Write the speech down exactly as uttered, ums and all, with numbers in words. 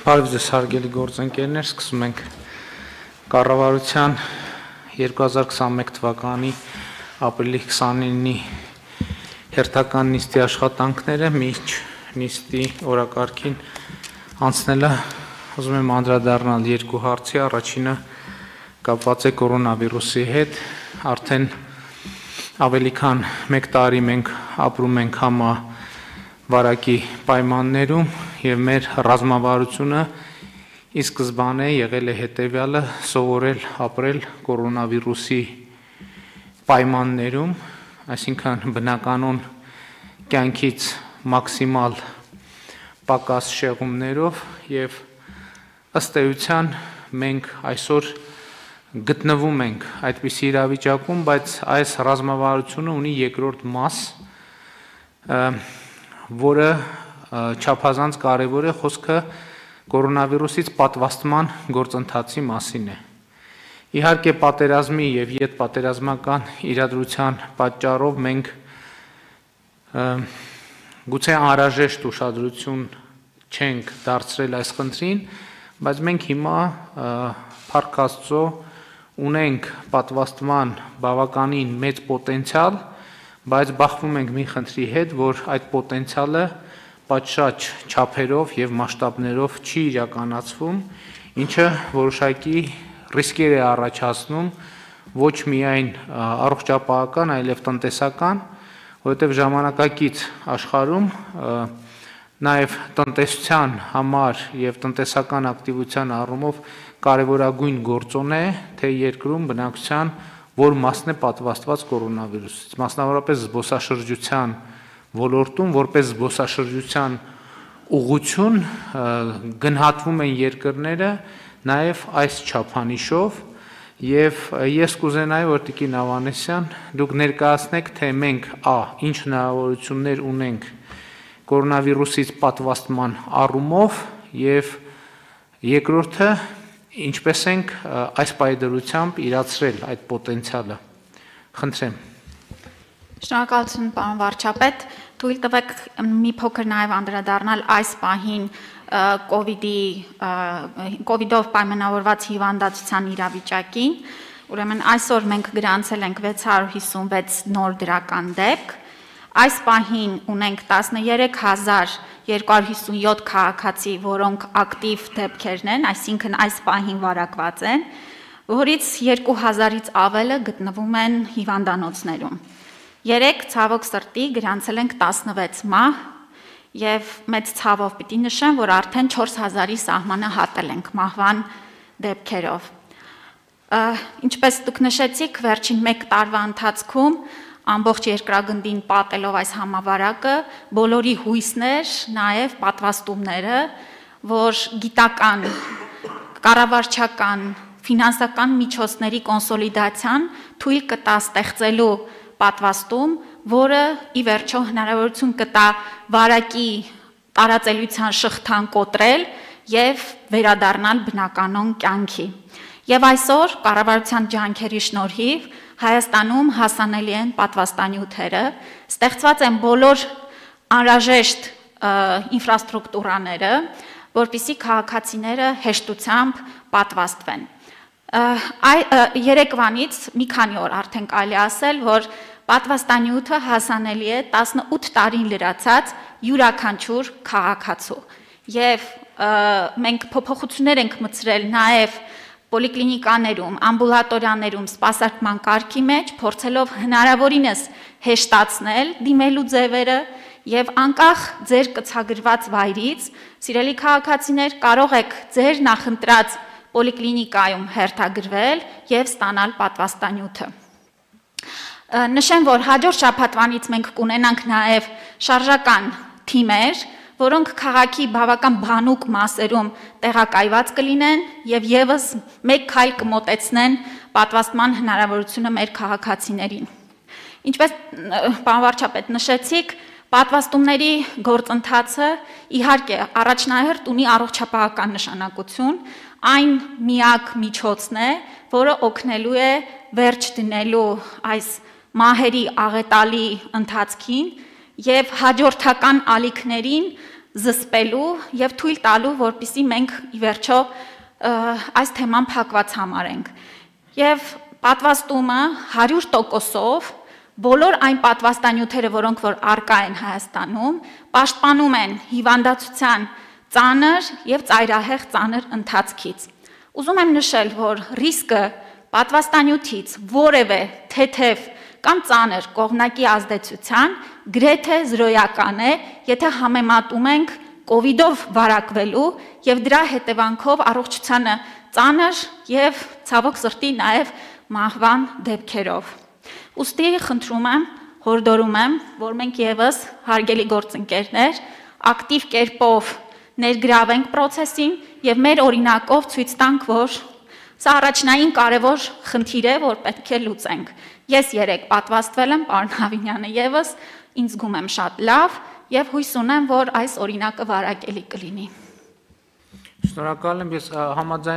Բարև ձեզ հարգելի գործընկերներ, սկսում ենք կառավարության երկու հազար քսանմեկ թվականի ապրիլի քսանինի հերթական նիստի աշխատանքները, միջ նիստի օրակարգին անցնելը ուզում եմ անդրադառնալ երկու հարցի, առաջինը կապված է կորոնավիրուսի հետ, արդեն ավելի քան մեկ տարի մենք ապրում ենք համավարակի պայմաններում և մեր ռազմավարությունը ի սկզբանե եղել է հետևյալը սովորել ապրել կորոնավիրուսի պայմաններում, այսինքն բնականon կյանքից մաքսիմալ պակաս շեղումներով և ըստ էության մենք այսօր գտնվում ենք այդպիսի իրավիճակում, բայց այս ռազմավարությունը ունի երկրորդ մաս, որը չափազանց կարևոր է, խոսքը կորոնավիրուսից պատվաստման գործընթացի մասին է։ Իհարկե պատերազմի և ետպատերազմական իրադրության պատճառով մենք գուցե անհրաժեշտ ուշադրություն չենք դարձրել այս խնդրին, բայց մենք հիմա փառք Աստծո ունենք պատվաստման բավականին մեծ պոտենցիալ, բայց բախվում ենք մի խնդրի հետ, որ այդ պոտենցիալը պատշաճ չափերով և մասշտաբներով չի իրականացվում, ինչը որոշակի ռիսկեր է առաջացնում ոչ միայն առողջապահական, այլև տնտեսական, որովհետև ժամանակակից աշխարհում նաև տնտեսության համար և տնտեսական ակտիվության առումով կարևորագույն գործոն է, թե երկրում բնակչության որ մասն է պատվաստված կորոնավիրուսից, մասնավորապես զբոսաշրջության ոլորտում, որպես զբոսաշրջության ուղղություն գնահատվում են երկրները նաև այս չափանիշով և ես կուզենայի, որ տիկին Ավանեսյան, դուք ներկայացնեք, թե մենք ա. ինչ հնարավորություններ ունենք կորոնավիրուսից պատվաստման առումով և երկրորդը, ինչպես ենք այս պայմաններում իրացրել այդ պոտենցիալը։ Խնդրեմ։ Շնորհակալություն, պարոն վարչապետ, թույլ տվեք մի փոքր նաև անդրադառնալ այս պահին կովիդի կովիդով պայմանավորված հիվանդացության իրավիճակին, ուրեմն այսօր մենք գրանցել ենք վեց հարյուր հիսունվեց նոր դրական դեպք, այս պահին ունենք տասներեք հազար երկու հարյուր հիսունյոթ քաղաքացի, որոնք ակտիվ դեպքերն են, այսինքն այս պահին վարակված են, որից երկու հազարից ավելը գտնվում են հիվանդանոցներում։ Երեկ ցավոք սրտի գրանցել ենք տասնվեց մահ և մեծ ցավով պիտի նշեմ, որ արդեն չորս հազարի սահմանը հատել ենք մահվան դեպքերով։ Ինչպես դուք նշեցիք, վերջին մեկ տարվա ընթացքում ամբողջ երկրագնդին պատելով այս համավարակը, բոլորի հույսն էր, նաև պատվաստումները, որ գիտական, կառավարչական, ֆինանսական միջոցների կոնսոլիդացիան թույլ կտա ստեղծելու պատվաստում, որը ի վերջո հնարավորություն կտա վարակի տարածելիության շղթան կոտրել և վերադառնալ բնականon կյանքի։ Եվ այսօր կառավարության ջանքերի շնորհիվ Հայաստանում հասանելի են պատվաստանյութերը, ստեղծված են բոլոր անհրաժեշտ ինֆրաստրուկտուրաները, որպեսզի քաղաքացիները հեշտությամբ պատվաստվեն։ Երեկվանից մի քանի օր արդեն կարելի է ասել, որ պատվաստանյութը հասանելի է տասնութ տարին լրացած յուրաքանչյուր քաղաքացու և մենք փոփոխություններ ենք մտցրել նաև պոլիկլինիկաներում, ամբուլատորիաներում սպասարկման կարգի մեջ, փորձելով հնարավորինս հեշտացնել դիմելու ձևերը և անկախ ձեր կցագրված վայրից, սիրելի քաղաքացիներ, կարող եք ձեր նախընտրած պոլիկլինիկայում հերթագրվել և ստանալ պատվաստանյութը։ Նշեմ, որ հաջորդ շաբաթվանից մենք կունենանք նաև շարժական թիմեր, որոնք քաղաքի բավական բանուկ մասերում տեղակայված կլինեն և ևս մեկ քայլ կմոտեցնեն պատվաստման հնարավորությունը մեր քաղաքացիներին։ Ինչպես պարոն վարչապետ նշեցիք, պատվաստումների գործընթացը իհարկե առաջնահերթ ունի առողջապահական նշանակություն, այն միակ միջոցն է, որը օգնելու է վերջ դնելու այս մահերի աղետալի ընթացքին և հաջորդական ալիքներին զսպելու եւ թույլ տալու, որպեսզի մենք ի վերջո այս թեման փակված համարենք։ Եվ պատվաստումը հարյուր տոկոսով բոլոր այն պատվաստանյութերը, որոնք որ առկա են Հայաստանում, պաշտպանում են հիվանդացության ծանր եւ ծայրահեղ ծանր ընթացքից։ Ուզում եմ նշել, որ ռիսկը պատվաստանյութից որևէ թեթև կամ ծանր կողմնակի ազդեցության գրեթե զրոյական է, եթե համեմատում ենք կովիդով վարակվելու եւ դրա հետևանքով առողջությանը ծանր եւ ցավոք սրտի նաեւ մահվան դեպքերով։ Ուստի խնդրում եմ, հորդորում եմ, որ մենք եւս հարգելի գործընկերներ ակտիվ կերպով ներգրավենք process-ին եւ մեր օրինակով ցույց տանք, որ սա առաջնային կարևոր խնդիր է, որ պետք է լուծենք։ Ես երեք պատվաստվել եմ, պարոն Հավինյանը եւս, ինձ զգում եմ շատ լավ եւ հույս ունեմ, որ այս օրինակը վարակելի կլինի։ Շնորհակալ եմ, ես համաձայն